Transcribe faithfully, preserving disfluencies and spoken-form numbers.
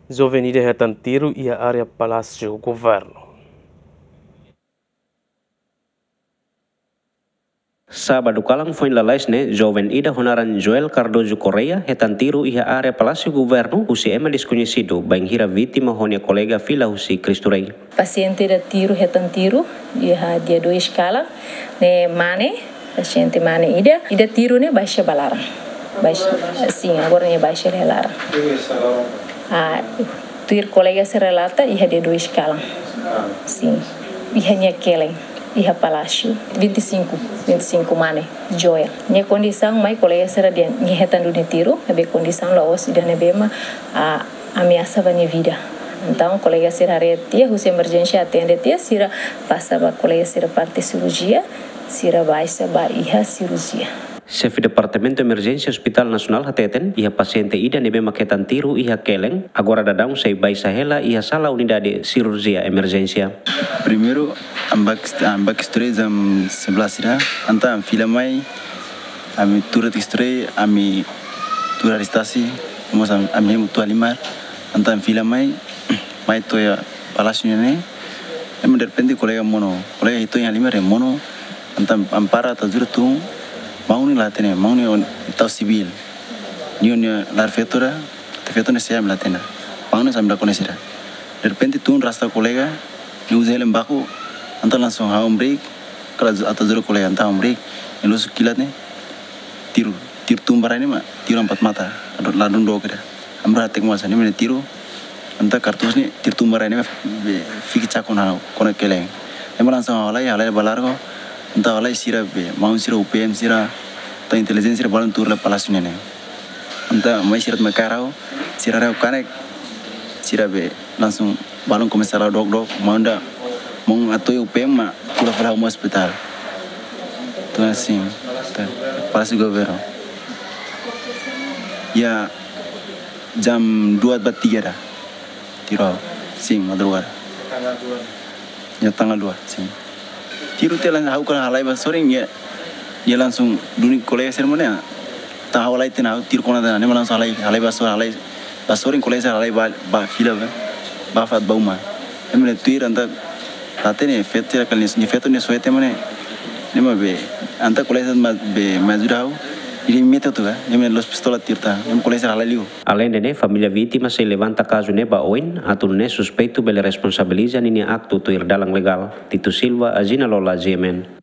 Joven ida hetan tiru iha área Palásiu Governu. Sábadu kalan foin lalais ne'e, joven ida ho naran Joel Cardoso Correia hetan tiru iha área Palásiu Governu husi ema deskoñesidu, bainhira vítima ho nia kolega fila husi Cristo Rei. Pasiente ida tiru, hetan tiru iha dia dois kalan, ne'e mane, pasiente mane ida, ida tiru ne'e baixa ba laran. Baixa, sin, agora ne'e baixa iha laran. Ah, tuir kolega sira relata iha dia dois kalan. Sin, iha nia kelen, iha Palásiu, vinte e cinco, vinte e cinco mane, Joel. Nia kondisaun mai kolega sira dehan nia hetan duni tiru, ne'ebé kondisaun la'ós ida ne'ebé mak, ah, ameasa ba nia vida. Entaun, kolega sira haree tiha, husi emerjénsia atende tiha, sira pasa ba kolega sira parte sirurjia, sira baixa ba iha sirurjia. Xefe Departamentu Emerjénsia Hospitál Nasionál hateten, iha pasiente ida ne'ebé mak hetan tiru iha kelen, agora daudaun sei baixa hela iha sala unidade sirurjia emerjénsia. Primeiru, ami bá, ami bá Cristo Rei jam sebelas ida, entaun ami fila mai, ami tuur iha Cristo Rei, ami tuur iha restasi, mós ami, ami hemu tuir halimar, entaun ami fila mai, mai to'o iha Palásiu ne'e, ema derrepente kolega monu, kolega hitu iha halimar monu, entaun ami para atu ajuda tun, maun ne'e la hatene, maun ne'e tau sivíl, nia, nia laran feto ida, feto ne'e sé ami la hatene, maun ne'e sá ami la koñese ida. Derrepente tun rasta kolega, nia uza helm baku, entaun langsung ha'u hamriik, kala atu ajuda kolega, entaun hamriik, nia lusu kilat ne'e, tiru, tiru tun ba rai ne'e mak, tiru empat mata, la dún dook ida. Ami rua hateke mós hanesan ne'e, tiru, entaun kartús ne'e, tiru tun ba rai ne'e mak, be, fik cakon ha'u, kona kelen. Ne'e mak langsung ha'u halai, halai ba largo, entaun halai sira be, maun sira, U P M sira, entaun intelijénsia sira balun tuur iha Palásiu ne'e. Entaun mai sira mai kaer ha'u, sira haree ha'u kanek, sira be langsung balun komesa la'o dook-dook, maun ida, maun atu U P M mak, kula fali ha'u mai ospitál. Entaun hanesan, entaun, Palásiu Governu. Iha jam dua ba tiga ida. Tiru ha'u, sin, madrugada. Iha tanggal dua, sin. Tiru tiha langsung ha'u kala halai ba sorin, nia, nia langsung duni kolega sira mós ne'e. Entaun ha'u halai tiha ona, ha'u tiru kona tiha ona, nia mak langsung halai, halai ba sorin, halai ba sorin, kolega sira halai ba, ba fila ba, ba fatin ba uma. Ema ne'e tuir entaun la hatene feto sira kala nia, nia feto nia soe tiha mak ne'e. Ne'e mak be, entaun kolega sira mak be, mak ajuda ha'u, nia metin atu ka, ema ne'e la'ós pistola tiru tiha, ema kolega sira halai liu. Aleinde ne'e, família vítima sei levanta kazu ne'e ba oin, atu nune'e suspeitu bele responsabiliza ninia aktu tuir dalan legál. Tito Silva, Agina Lola, G M N.